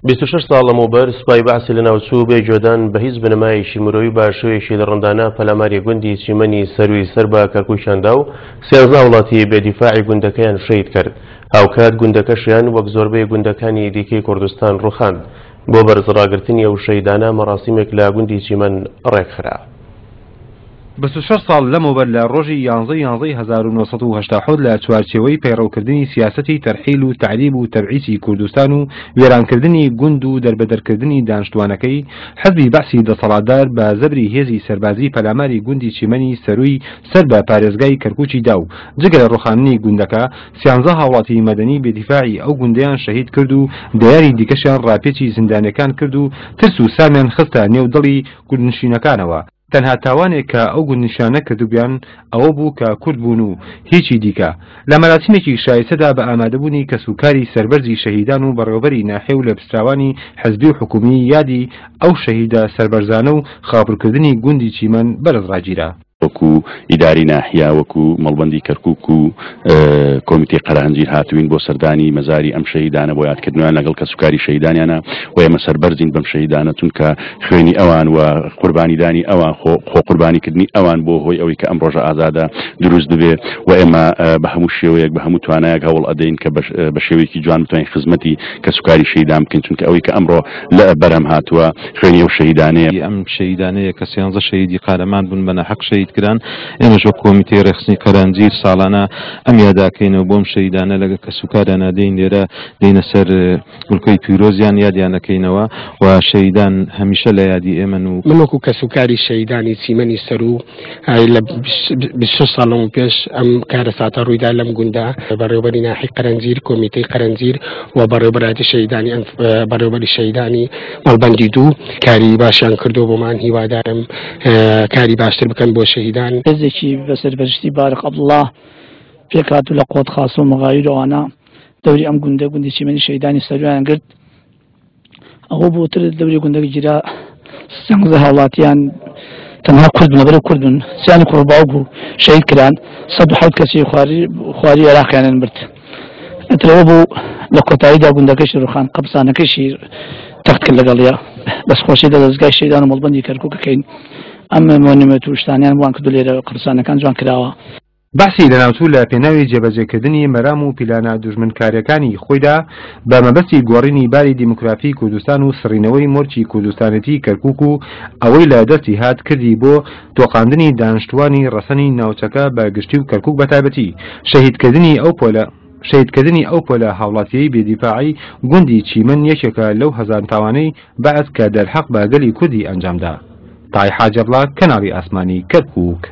26 ساڵ لەمەوبەر سوپای بەعسی لەناوچوو بێ گوێدان بە هیچ بنەمایەکی مرۆیی بە شێوەیەکی دڕندانە پەلاماری گوندی چیمەنی سەرووی سەر بە کەرکووکیان دا و 13 هاوڵاتی بێ دیفاعی گوندەکەیان شەهید کرد. هاوکات گوندەکەشیان وەک زۆربەی گوندەکانی دیکەی کوردستان ڕووخاند. بۆ بەرزڕاگرتنی ئەو شەهیدانە مەراسیمێک لە گوندی چیمەن ڕێکخرا. 26 ساڵ لەمەوبەر لە ڕۆژی یانزە ی یانزەی 1987 لە چوارچێوەی پەیڕەوکردنی سیاسەتی تەرحیل و تەعریب و تەبعیسی کوردستان و وێرانکردنی گوند و دەربەدەرکردنی دانشتوانەکەی، حزبی بەعسی دەسەڵاتدار بە زەبری هێزی سەربازی پەلاماری گوندی چیمەنی سەرووی سەر بە پارێزگای کەرکوکی دا و جگە لە ڕوخاندنی گوندەکە، سیانزە هاوڵاتی مەدەنی بێدیفاعی ئەو گوندەیان شەهید کرد و دەیانی دیکەشیان ڕاپێچی زیندانیەکان کرد و ترس و سامیان خستە نێو دڵی گوندنشینەکانەوە. تەنها تاوانێک کە ئەو گوندنشینانە کردبوویان ئەوە بوو کە کورد بوون و هیچی دیکە. لە مەراسیمێکی شایستەدا بە ئامادەبوونی کەسوکاری سەربەرزی شەهیدان و بەڕێوەبەری ناحیە و لێپرسراوانی حزبی و حکوومی یادی ئەو شەهیدە سەربەرزانە و خاپوورکردنی گوندی چیمەن بەرز ڕاگیرا. وەکو ئیداری ناحیە، وەکو مەڵبەندی کەرکوک و کۆمیتەی قەرەهەنجیر هاتووین بۆ سەردانی مەزاری ئەم شەهیدانە بۆ یادکردنەوەیان لەگەڵ کەسوکاری شەهیدانیانە و ئێمە سەربەرزین بەم شەهیدانە چونکە خوێنی ئەوان و قوربانیدانی ئەوان خۆ قوربانیکردنی ئەوان بۆ هۆی ئەوەی کە ئەم ڕۆژە ئازادە دروست ببێ و ئێمە بە هەموو شێوەیەک بە هەموو توانایەک هەوڵ ئەدەین کە بە شێوەیەکی جوان بتوانین خزمەتی کەسوکاری شەهیدان بکەین چونکە ئەوەی کە ئەمڕۆ لە بەرهەم هاتووە خوێنی ئەو شەهیدانەیە. ئەم شەهیدانەیە کە سیانزە شەهیدی قارەمان بوون بە ناحەق شەهید کران، ئێمەش وەک کۆمیتەی ڕێکخستنی قەرەنجیر ساڵانە ئەم یادە ئەکەینەوە بۆ ئەم شەهیدانە لەگە کەسوکاریانا دێین لێرە دێینە سەر گوڵکەی پیرۆزیان یادیان ئەکەینەوە و شەهیدان هەمیشە لە یادی ئێمەن و. من وەکو کەسوکاری شەهیدانی چیمەنی سەروو لە 26 ساڵ لەمەو پێش ئەم کارەساتە ڕوویدا لەم گوندە، بەڕێوەبەری ناحیەی قەرەنجیر، کۆمیتەی قەرەنجیر و بەڕێوەبەرایەتی شەهیدانی بەڕێوەبەری شەهیدانی مەڵبەندی دوو کاری باشیان کردو بۆمان، هیوادارم کاری باشتر بکەن بۆ شەهیدان. هێزێکی بە سەرپەرشتی بارق عەبدوڵڵا پێکهاتوو لە قۆت خاسە و مەغایر و ئەوانە دەوری ئەم گوندە گوندی چیمەنی شەهیدانی سەرویان گرت. ئەوە بۆ تر دەوری گوندەکە گیرا، 13 هاوڵاتیان تەنها کورد بوون، لەبەرەوە کورد بوون، سیانی کوڕ باوک بوو شەهید کران، 107 کەسی خواری عێراقیانیان برد. ئەترەوە بوو لە کۆتاییدا گوندەکەشی ڕوخان، قەبرستانەکەشی تەخت کرد لەگەڵیا. دەستخۆشی لە دەزگای شەهیدان و مەڵبەندی کەرکووک ئەکەین، ئەم مۆنیمێنت و شتانیان بۆیان کردو لێرە قەبرستانەکان جوان کراوە. بەعسی لەناوچوو لە پێناوی جێبەجێکردنی مەرام و پیلانە دوژمنکاریەکانی خۆیدا بە مەبەستی گۆڕینی باری دیموکرافی کوردستان و سڕینەوەی مۆرکی کوردستانێتی کەرکوک و ئەوەی لە دەستی هات کردی بۆ تۆقاندنی دانشتوانی ڕەسەنی ناوچەکە بە گشتی و کەرکوک بە تایبەتی شەهیدکردنی ئەو پۆلە شەهیدکردنی ئەو پۆلە هاوڵاتیەی بێ دیفاعەی گوندی چیمەن یەکێکە لەو هەزان تاوانەی بەعس کە دەرحەق بە گەلی کوردی ئەنجامدا. تای حاجی عەبدوڵا کەناڵی ئاسمانی کەرکوک.